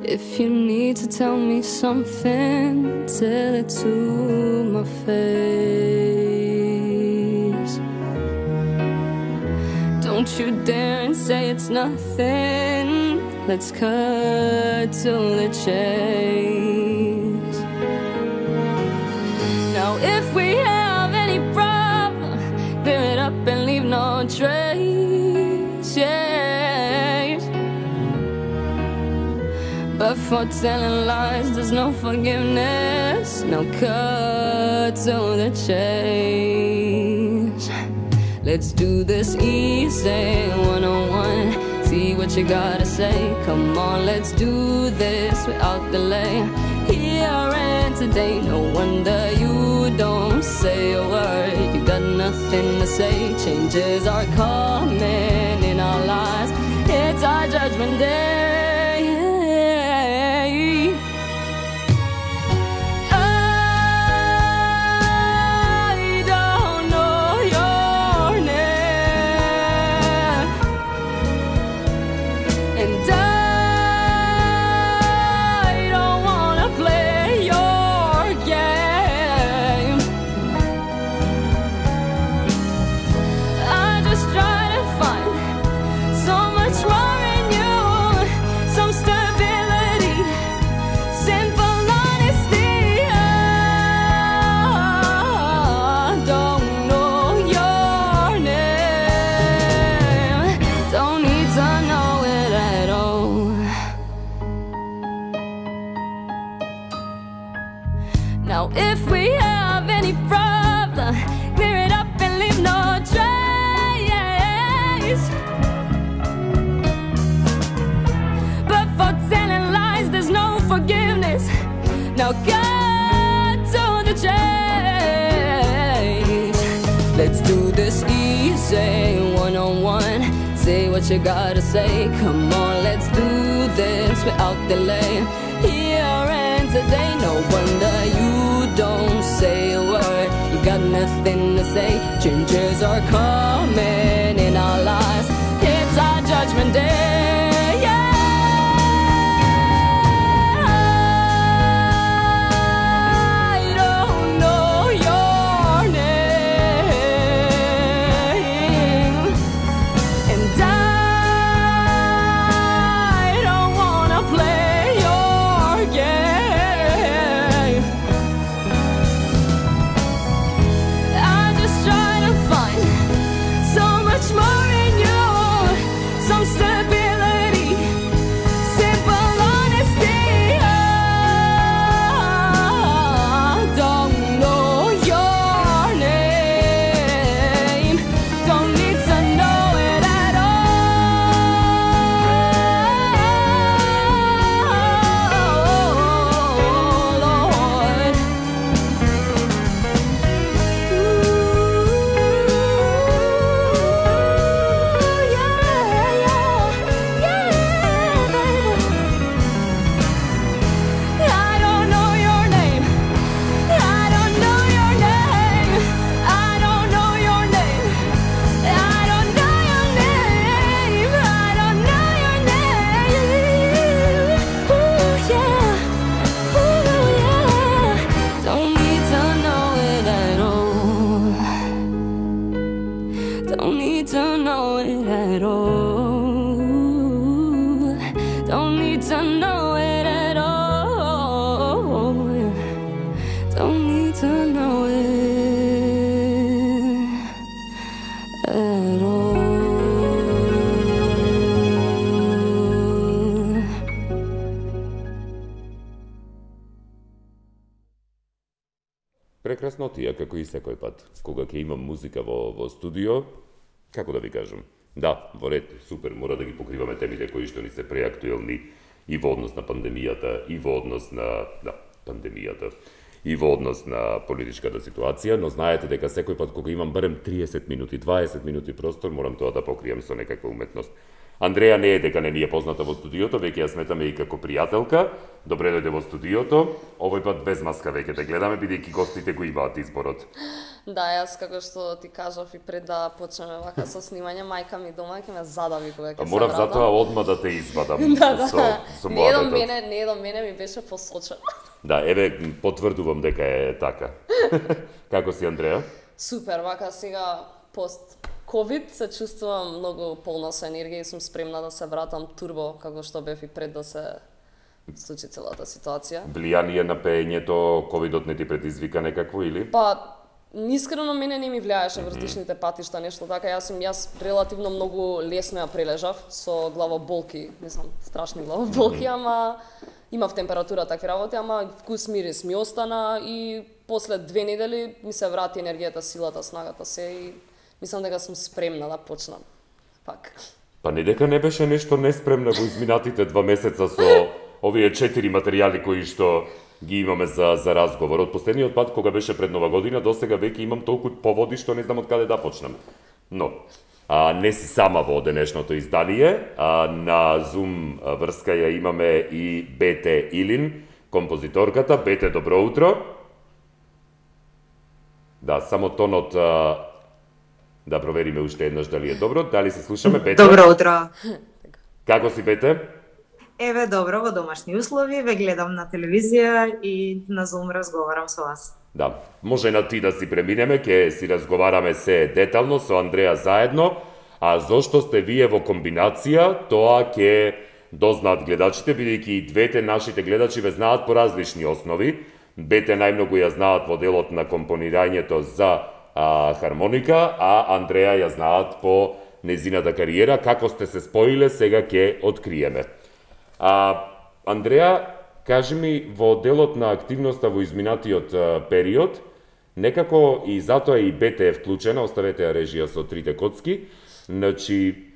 If you need to tell me something, tell it to my face. Don't you dare and say it's nothing. Let's cut to the chase. Now if we have any problem, clear it up and leave no trace, yes. But for telling lies, there's no forgiveness. Now cut to the chase. Let's do this easy, one-on-one. See what you gotta say. Come on, let's do this without delay. Here and today, no wonder you don't say a word. You got nothing to say. Changes are coming in our lives. It's our judgment day. Now if we have any problem, clear it up and leave no trace. But for telling lies, there's no forgiveness. Now cut to the chase. Let's do this easy, one-on-one. Say what you gotta say. Come on, let's do this without delay. Here and today, no wonder you don't say a word. You got nothing to say. Changes are coming in our lives. It's our judgment day. Don't need to know it at all. Don't need to know it at all. Don't need to know it at all. Прекрасно тие, како и секој пат. Кога ќе имам музика во студио, како да ви кажам? Да, во ред, супер, мора да ги покриваме темите кои што ни се преактуелни и во однос на пандемијата, и во однос на пандемијата, и во однос на политичката ситуација, но знаете дека секој пат кога имам барем 30 минути, 20 минути простор, морам тоа да покријам со некаква уметност. Андреја не е дека не ни е позната во студиото, веќе ја сметаме и како пријателка. Добре дојде во студиото. Овој пат без маска веќе те гледаме, бидејќи гостите го имаат изборот. Да, јас како што ти кажав и пред да почнеме вака со снимање, мајка ми дома ќе ме задави кога ќе се вратам. Морав затоа одма да те извадам. Со не до мене ми беше посочено. Да, еве потврдувам дека е така. Како си, Андреја? Супер, вака сега пост COVID се чувствувам многу полна со енергија и сум спремна да се вратам турбо, како што бев и пред да се случи целата ситуација. Влијание на пеењето, ковидот не ти предизвика некакво или? Па, искрено мене не ми влијаеше вртишните патишта, нешто така. Јас релативно многу лесно ја прележав со главоболки, мислам, страшни главоболки, ама имав температура, такви работи, ама вкус мирис ми остана и после 2 недели ми се врати енергијата, силата, снагата се и мислам дека сум спремна да почнам. Пак. Па не дека не беше нешто неспремна во изминатите 2 месеца со овие 4 материјали кои што ги имаме за разговор. Од последниот пат кога беше пред Нова година до сега веќе имам толку поводи што не знам од каде да почнам. Но не си сама во денешното издание, на Zoom врска ја имаме и Бете Илин, композиторката. Бете, добро утро. Да, само тонот да провериме уште еднаш дали е добро. Дали се слушаме, Бете? Добро утро. Како си, Бете? Еве, добро, во домашни услови, ве гледам на телевизија и на Zoom разговарам со вас. Да, може на ти да си преминеме, ќе си разговараме се детално со Андреја заедно, а зошто сте вие во комбинација, тоа ќе дознаат гледачите, бидејќи и двете нашите гледачи ве знаат по различни основи. Бете најмногу ја знаат во делот на компонирањето за хармоника, а Андреја ја знаат по незината кариера. Како сте се споиле, сега ќе откриеме. Андреја, кажи ми, во делот на активноста во изминатиот период, некако и затоа и Бете е вклучена, оставете ја режија со трите коцки, значи,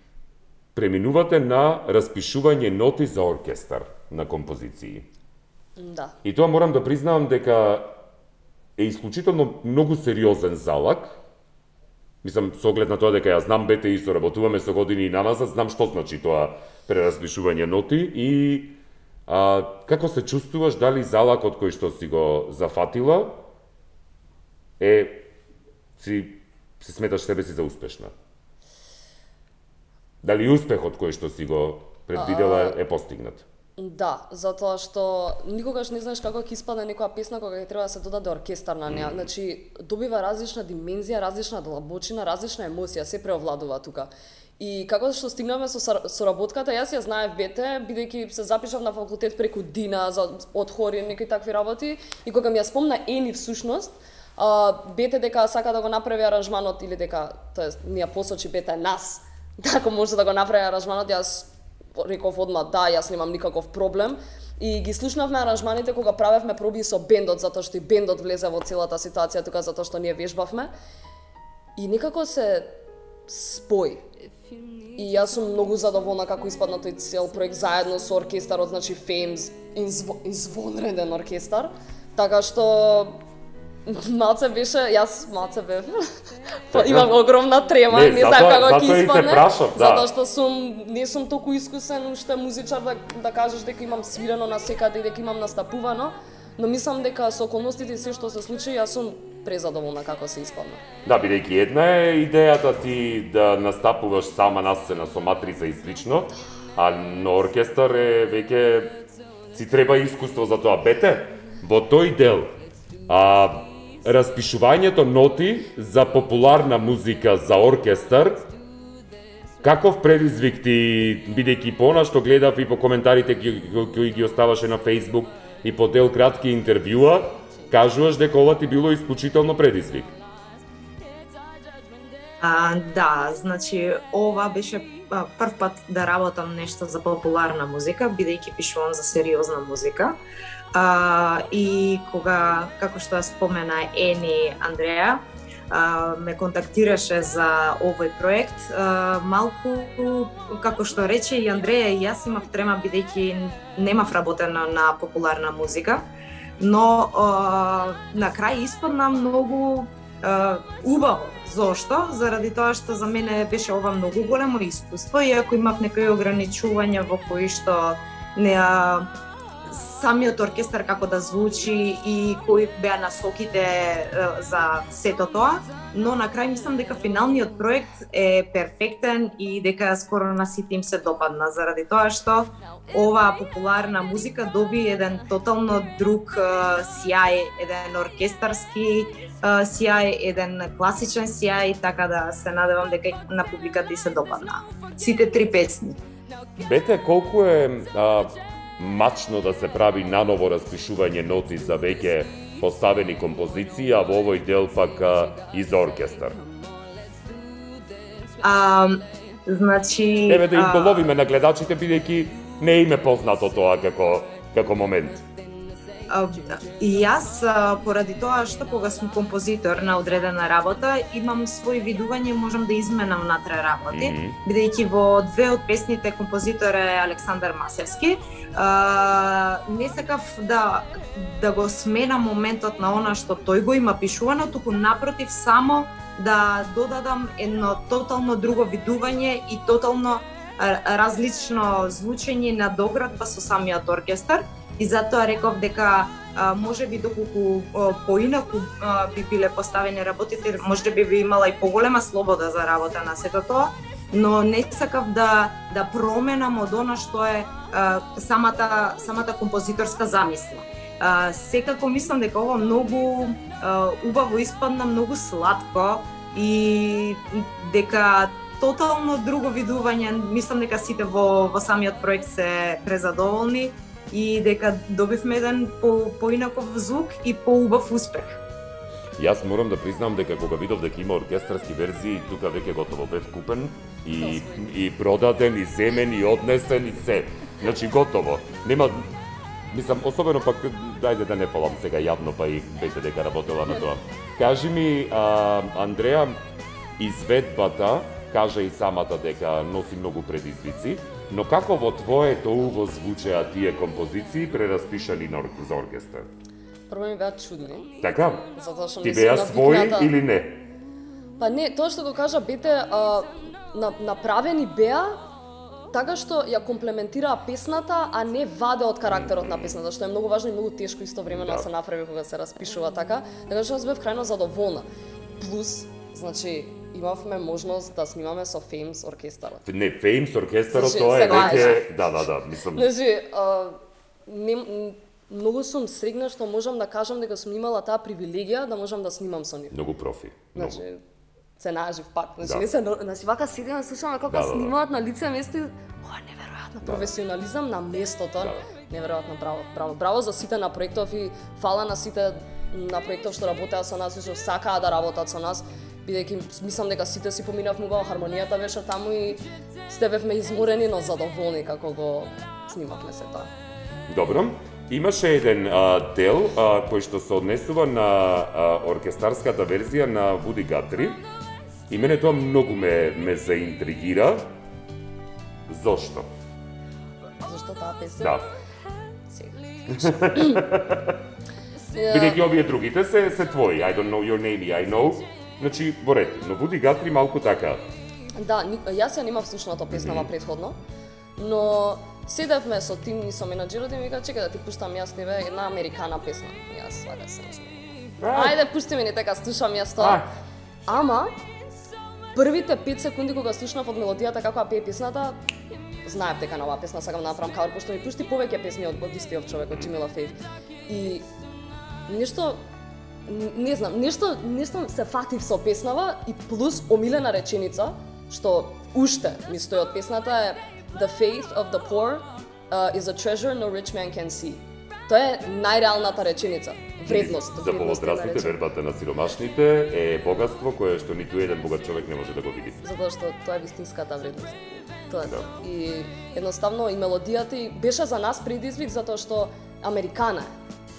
преминувате на распишување ноти за оркестар на композиции. Да. И тоа морам да признавам дека е исклучително многу сериозен залак. Мислам, со оглед на тоа дека ја знам Бете и соработуваме со години и наназад, знам што значи тоа прераспишување ноти и како се чувствуваш, дали залакот кој што си го зафатила си сметаш себе си за успешна? Дали успехот кој што си го предвидела е постигнат? Да, затоа што никогаш не знаеш како ќе испадне некоја песна кога ќе треба да се додаде оркестар на неа. Значи, добива различна димензија, различна длабочина, различна емоција, се преовладува тука. И како што стигнаме со соработката, јас ја знаев Бете, бидејќи се запишав на факултет преку Дина од хори, некои такви работи, и кога ми ја спомна Ени всушност, Бете дека сака да го направи аранжманот или дека, тоест, ни ја посочи Бете нас, како може да го направи аранжманот, јас реков одма да, јас немам никаков проблем. И ги слушнавме аранжманите кога правевме проби со бендот, затоа што и бендот влезе во целата ситуација тука, затоа што ние вежбавме. И некако се спои. И јас сум многу задоволна како испадна тој цел проект заедно со оркестарот, значи Феймс, извонреден оркестар. Така што малце беше, јас малце бев. Имам огромна трема, не знам како ќе испадне. Затоа што не сум толку искусен уште музичар да кажеш дека имам свирено на секаде и дека имам настапувано, но мислам дека со околностите и се што се случи, јас сум презадоволна како се испадна. Да, бидејќи една е идејата ти да настапуваш сама на сцена со матрица и слично, а на оркестар е веќе си треба искуство за тоа. Бете, во тој дел, распишувањето ноти за популарна музика за оркестар, каков предизвик ти, бидејќи по она што гледав и по коментарите кои ги оставаше на Facebook и по дел кратки интервјуа, кажуваш дека ова ти било исклучително предизвик. Да, значи ова беше прв пат да работам нешто за популарна музика, бидејќи пишувам за сериозна музика. И кога, како што спомена Ени Андреја, ме контактираше за овој проект, малку, како што рече и Андреја, и јас имав трема бидејќи немав работено на популарна музика, но на крај испадна многу убаво. Зошто? Заради тоа што за мене беше ова многу големо искуство, иако имав некои ограничувања во кои што не самиот оркестар како да звучи и кои беа насоките за сето тоа, но на крај мислам дека финалниот проект е перфектен и дека скоро на сите им се допадна, заради тоа што оваа популарна музика доби еден тотално друг сјај, еден оркестарски сјај, еден класичен сјај, така да се надевам дека на публиката и се допадна. Сите 3 песни. Бете, колку е мачно да се прави наново распишување ноти за веќе поставени композиции, а во овој дел пак и за оркестар? Значи... Еве да им половиме на гледачите, бидејќи не им е познато тоа како момент. И јас, поради тоа што кога сум композитор на одредена работа, имам свој видување, можам да изменам внатре работи, бидејќи во 2 од песните композитор е Александар Масевски. Не сакав да го сменам моментот на она што тој го има пишувано, туку напротив само да додадам едно тотално друго видување и тотално различно звучење на доградба со самиот оркестар. И затоа реков дека можеби доколку поинаку би биле поставени работите, можеби би имала и поголема слобода за работа на сето тоа, но не сакав да променам од она што е самата композиторска замисла. Секако мислам дека ова многу убаво испадна, многу сладко и дека тотално друго видување, мислам дека сите во самиот проект се презадоволни и дека добивме еден поинаков звук и поубав успех. Јас морам да признам дека кога видов дека има оркестарски верзии, тука веќе готово бев купен и продаден, и земен, и однесен, и се. Значи готово. Нема, мислам, особено пак, дајде да не фалам сега јавно, па и веќе дека работела на тоа. Кажи ми, Андреа, изведбата, кажа и самата дека носи многу предизвици, но како во твоето уво звучеа тие композиции прераспишани за оркестар? Прво ми беа чудни. Така? Затоа што ти беа своји или не? Па не, тоа што го кажа Бете, направени беа така што ја комплементираа песната, а не ваде од карактерот на песната, што е многу важно и многу тешко истовремено да се направи кога се распишува така. Така што јас бев крајно задоволна. Плюс, значи, имавме можност да снимаме со Феймс оркестарот. Не, Феймс оркестарот, тоа е веќе... Да, мислам... Значи, многу сум срегна што можам да кажам дека сум имала таа привилегија да можам да снимам со нив. Многу профи. Значи, се нажив пак. Значи, вака седиме, слушаме како снимаат на лице место и... неверојатно професионализам на местото. Неверојатно, браво за сите на проектов и фала на сите на проектов што работеа со нас и што сакаа да работат со нас. Бидејќи мислам дека сите си поминавме убаво, хармонијата беше таму и сте бевме изморени, но задоволни како го снимавме се тоа. Добро. Имаше еден дел кој што се однесува на оркестарската верзија на Вуди Гатри и мене тоа многу ме заинтригира. Зошто? Зошто таа песна? Да. Бидејќи овие другите се твои. I don't know your name, I know. Значи, во ред, но Вуди Гатри малку така. Да, јас ја немав слушната песнава предходно, но седевме со тим и со менаџерот и ми вика, чекај да ти пуштам јас тебе една американа песна. Јас вака се ајде, пушти ми така, слушам јас тоа. Ама, првите 5 секунди кога слушнав од мелодијата како ја пее песната, знаев дека на оваа песна сакам да направам кавер, пошто ми пушти повеќе песни од истиот човек, од Джимми Лафейв. И нешто не знам, нешто се фатив со песнава и плюс омилена реченица, што уште ми стои од песната е The faith of the poor is a treasure no rich man can see. Тоа е најреалната реченица. Вредност. За повозрастните, вербата на сиромашните е богатство кое што ниту еден богат човек не може да го види. Затоа што тоа е вистинската вредност. Тоа е. И едноставно и мелодијата и беше за нас предизвик затоа што американа е.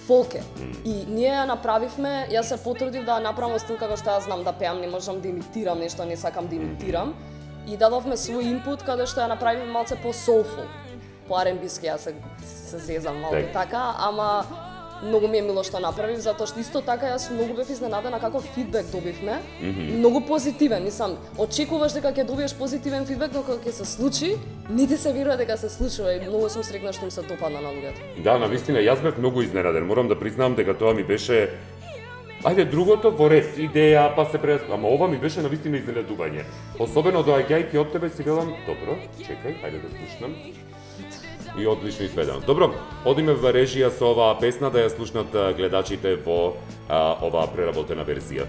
Фолк е. И ние ја направивме, јас се потрудив да ја направам стил како што јас знам да пеам, не можам да имитирам нешто, не сакам да имитирам. И дадовме свој инпут каде што ја направиме малце по soulful, по R&B-ски, јас се зезам малку така, ама многу ми е мило што направив, затоа што исто така јас многу бев изненадена како фидбек добивме. Многу позитивен, мислам, очекуваш дека ќе добиеш позитивен фидбек, но кога ќе се случи, не ти се верува дека се случува и многу сум среќна што им се допадна на луѓето. Да, навистина, јас бев многу изненаден. Морам да признам дека тоа ми беше ајде другото во ред, идеја, па се ама ова ми беше навистина изненадување. Особено доаѓајќи од тебе си велам, добро, чекај, ајде да слушнам. И одлично изведено. Добро, одиме во режија со оваа песна да ја слушнат гледачите во оваа преработена верзија.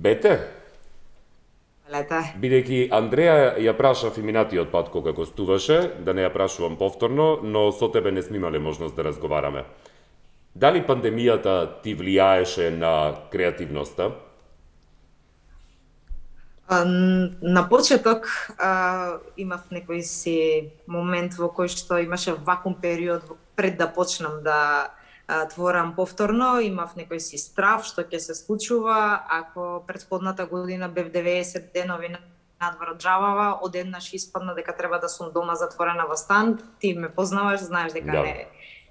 Бете? Лете. Бидејќи Андреја ја прашав и минатиот пат кога гостуваше, да не ја прашувам повторно, но со тебе не сме имале можност да разговараме. Дали пандемијата ти влијаеше на креативноста? На почеток имав некој си момент во кој што имаше вакуум период пред да почнам да творам повторно, имав некој си страв што ќе се случува ако претходната година бев 90 денови надвор од Джавава, одеднаш испадна дека треба да сум дома затворена во стан. Ти ме познаваш, знаеш дека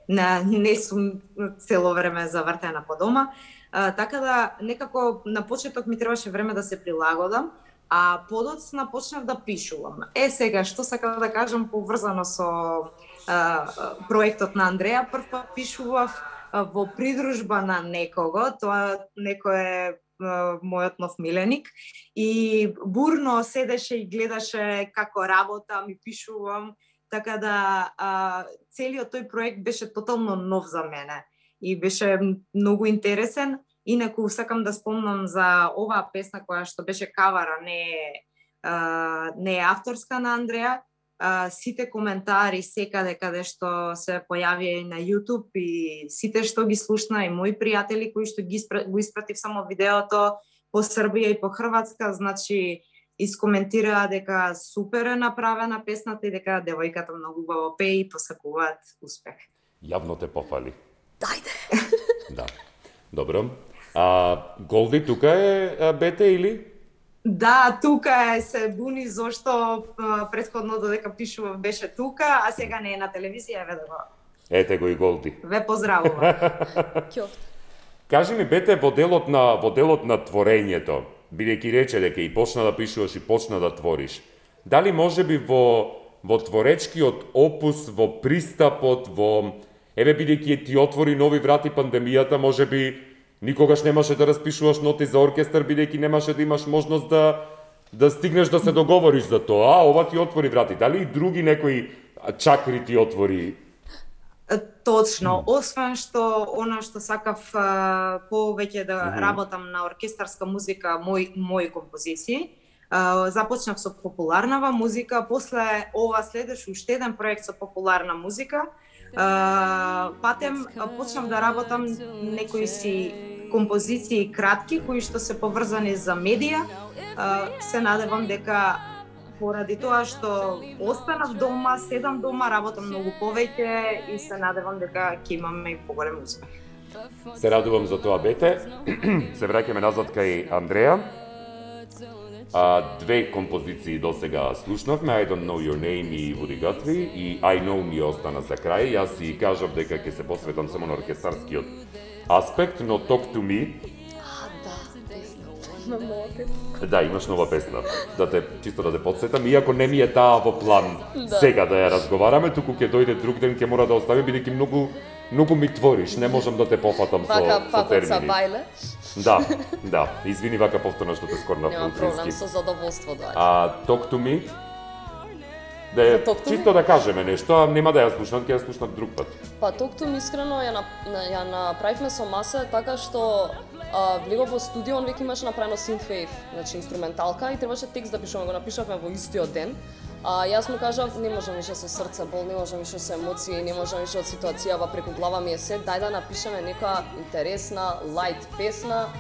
не сум цело време завртена по дома. Така да некако на почеток ми требаше време да се прилагодам, а подоцна почнав да пишувам. Сега што сакам да кажам поврзано со проектот на Андреја, прв пат пишував во придружба на некого, тоа некој е мојот нов миленик, и бурно седеше и гледаше како работам и пишувам, така да целиот тој проект беше тотално нов за мене и беше многу интересен. Инаку сакам да спомнам за оваа песна која што беше кавара, не е авторска на Андреја. Сите коментари секаде каде што се појавија и на YouTube и сите што ги слушна и мои пријатели кои што го испратив само видеото по Србија и по Хрватска, значи искоментираа дека супер е направена песната и дека девојката многу убаво пее и посакуваат успех. Јавно те пофали. Дајде. Да. Добро. Голди тука е Бете или? Да, тука се буни зошто претходно додека пишував беше тука, а сега не е на телевизија, еве да го. Ете го и Голди. Ве поздравува. Кажи ми, Бете, во делот на творењето, бидејќи рече дека и почна да пишуваш и почна да твориш, дали можеби во творечкиот опус, во пристапот, еве бидејќи ти отвори нови врати пандемијата, можеби никогаш немаше да распишуваш ноти за оркестар, бидејќи немаше да имаш можност да да стигнеш да се договориш за тоа, а ова ти отвори врати. Дали и други некои чакри ти отвори? Точно, освен што она што сакав повеќе да работам на оркестарска музика, мои композиции, започнав со популарнава музика, после ова следеше уште еден проект со популарна музика. Патем почнав да работам некои си композиции кратки кои што се поврзани за медија. Се надевам дека поради тоа што останав дома, седам дома, работам многу повеќе и се надевам дека ќе имаме и поголем успех. Се радувам за тоа, Бете. Се враќаме назад кај Андреја. Две композиции до сега слушнавме, I Don't Know Your Name и Woody Guthrie, и I Know ми остана за крај. Јас си кажав дека ќе се посветам само на оркестарскиот аспект, но Talk to Me. Да, имаш нова песна. Чисто да те подсетам, иако не ми е таа во план сега да ја разговараме, туку ќе дојде друг ден, ќе мора да оставим, бидејќи многу ми твориш, не можам да те пофатам со термини. Да, извини вака повторно што те скорнав на френски. Нема проблем, со задоволство доаѓа. Talk to Me. Чисто да кажеме нешто, а нема да ја слушнат, ќе ја слушнат друг пат. Па Talk to Me искрено ја направивме со Масе така што влегов во студио, он веќе имаше направено synthwave, значи инструменталка, и требаше текст да пишеме, го напишавме во истиот ден. Јас му кажав, не можам више со срце бол, не можам више со емоции, не можам више од ситуацијава преку глава ми е се, дај да напишеме некоја интересна, лајт песна,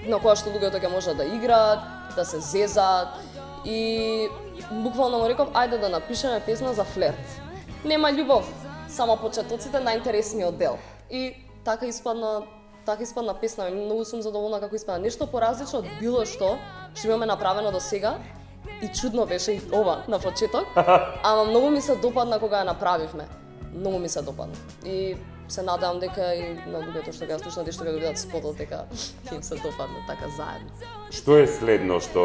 на која што луѓето ќе можат да играат, да се зезаат, и буквално му реков, ајде да напишеме песна за флерт. Нема љубов, само почетоците на интересниот дел. И така испадна песна, многу сум задоволна како испадна. Нешто поразлично од било што имаме направено до сега, и чудно беше и ова на почеток, ама многу ми се допадна кога ја направивме. Многу ми се допадна. И се надевам дека и на луѓето што ќе ја слушнат и што ќе го видат спотот, дека ќе им се допадне така заедно. Што е следно што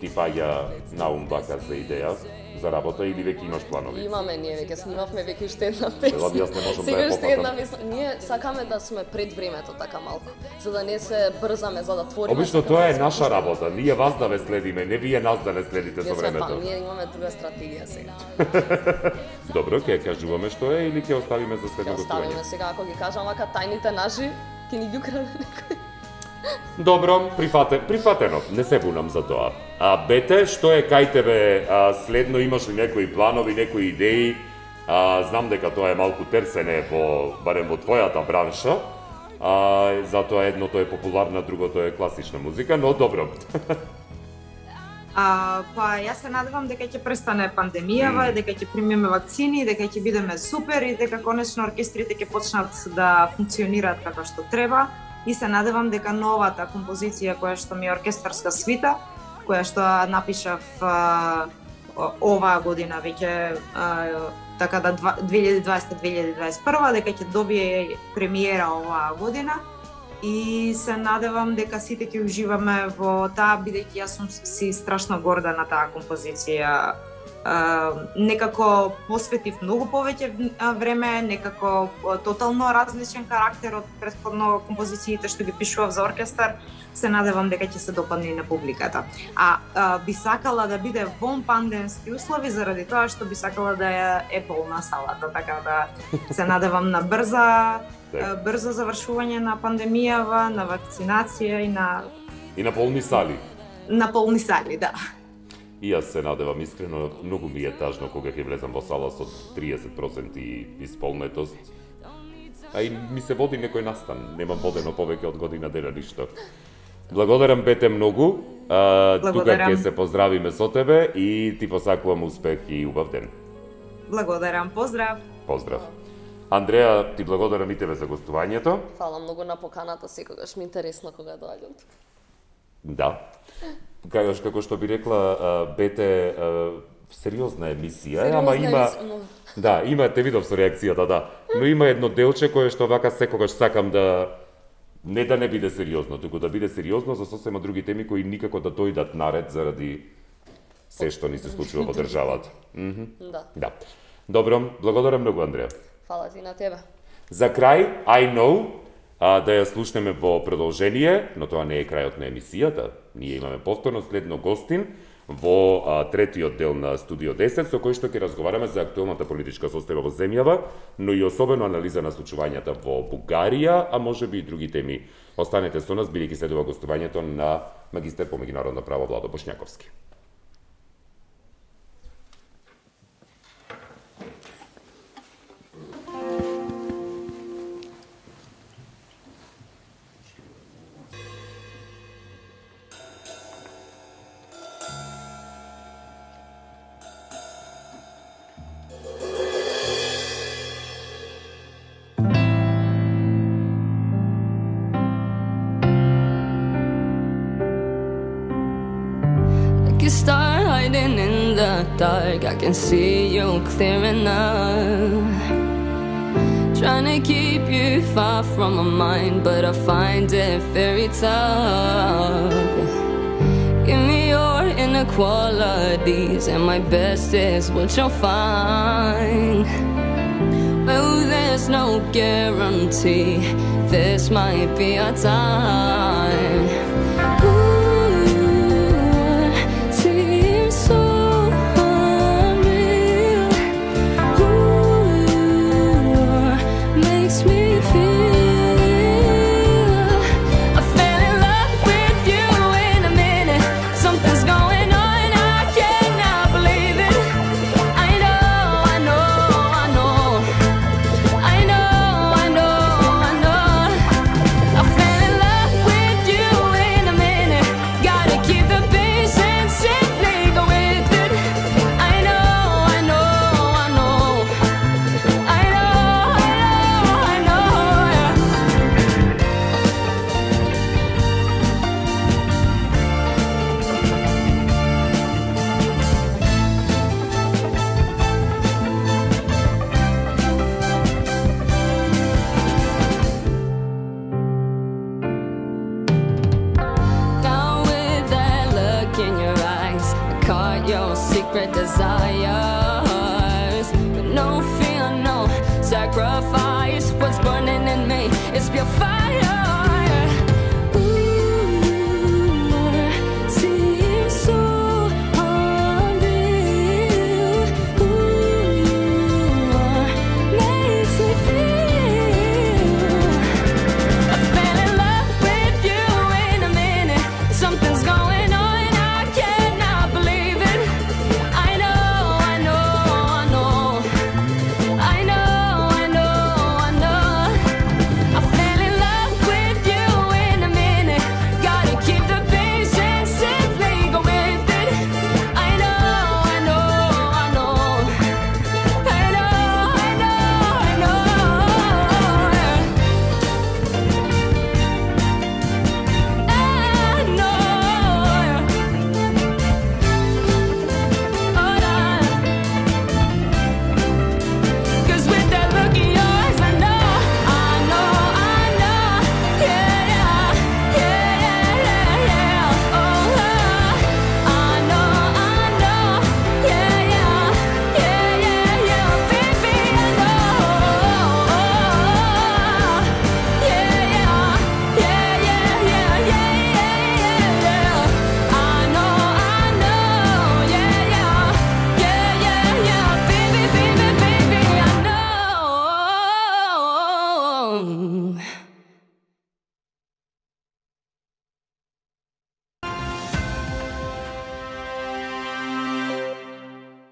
ти паѓа на ум вака за идеја за работа, или веќе имаш планови? Имаме, ние веќе снимавме веќе уште една песна. Јас не можам да ја Сега уште една попатам. песна. Ние сакаме да сме пред времето така малку, за да не се брзаме, за да твориме. Обично тоа е наша работа. Ние вас да ве следиме, не вие нас да не следите со времето. Ние имаме друга стратегија сега. Добро, ќе кажуваме што е или ќе оставиме за следно Ќе оставиме гостување? сега, ако ги кажам вака тајните наши, ќе ни ги украде некој. Добро, прифатено, не се бунам за тоа. Бете, што е кај тебе следно, имаш ли некои планови, некои идеи? Знам дека тоа е малку терсене барем во твојата бранша. Затоа едното е популарна, другото е класична музика, но добро. Па јас се надевам дека ќе престане пандемијава, дека ќе примиме вакцини, дека ќе бидеме супер и дека конечно оркестрите ќе почнат да функционираат како што треба. И се надевам дека новата композиција која што ми е оркестарска свита, која што напишав оваа година веќе така да 2020-2021, дека ќе добие премиера оваа година. И се надевам дека сите ќе уживаме во таа, бидејќи јас сум си страшно горда на таа композиција. Некако посветив многу повеќе време, некако тотално различен карактер од претходно композициите што ги пишував за оркестар. Се надевам дека ќе се допадне и на публиката. Би сакала да биде вон пандемски услови, заради тоа што би сакала да е полна салата, така да се надевам на брзо завршување на пандемијава, на вакцинација и на полни сали. На полни сали, да. И јас се надевам искрено, многу ми е тажно кога ќе влезам во сала со 30% исполнетост. А и ми се води некој настан, немам водено повеќе од година дена ништо. Благодарам, Бете, многу. Тука ќе се поздравиме со тебе и ти посакувам успех и убав ден. Благодарам, поздрав. Поздрав. Андреја, ти благодарам и тебе за гостувањето. Фала многу на поканата, секогаш ми интересно кога доаѓам тука. Да. Како што би рекла, Бете, сериозна емисија, ама има... Да, има, те видов со реакцијата, да. Но има едно делче кое што вака секогаш сакам да... Не да не биде сериозно, туку да биде сериозно за сосема други теми кои никако да дојдат наред заради се што ни се случува во државата. Да. Добро, благодарам многу, Андреја. Фала ти на тебе. За крај, I Know, да ја слушнеме во продолжение, но тоа не е крајот на емисијата. Ние имаме повторно следно гостин во третиот дел на Студио 10, со кој што ќе разговараме за актуелната политичка состојба во земјава, но и особено анализа на случувањата во Бугарија, а можеби и други теми. Останете со нас, бидејќи следува гостувањето на магистер по меѓународно право Владо Бошњаковски. Start hiding in the dark, I can see you clear enough. Trying to keep you far from my mind, but I find it very tough. Give me your inequalities, and my best is what you'll find. Well, there's no guarantee, this might be our time. Your secret desire.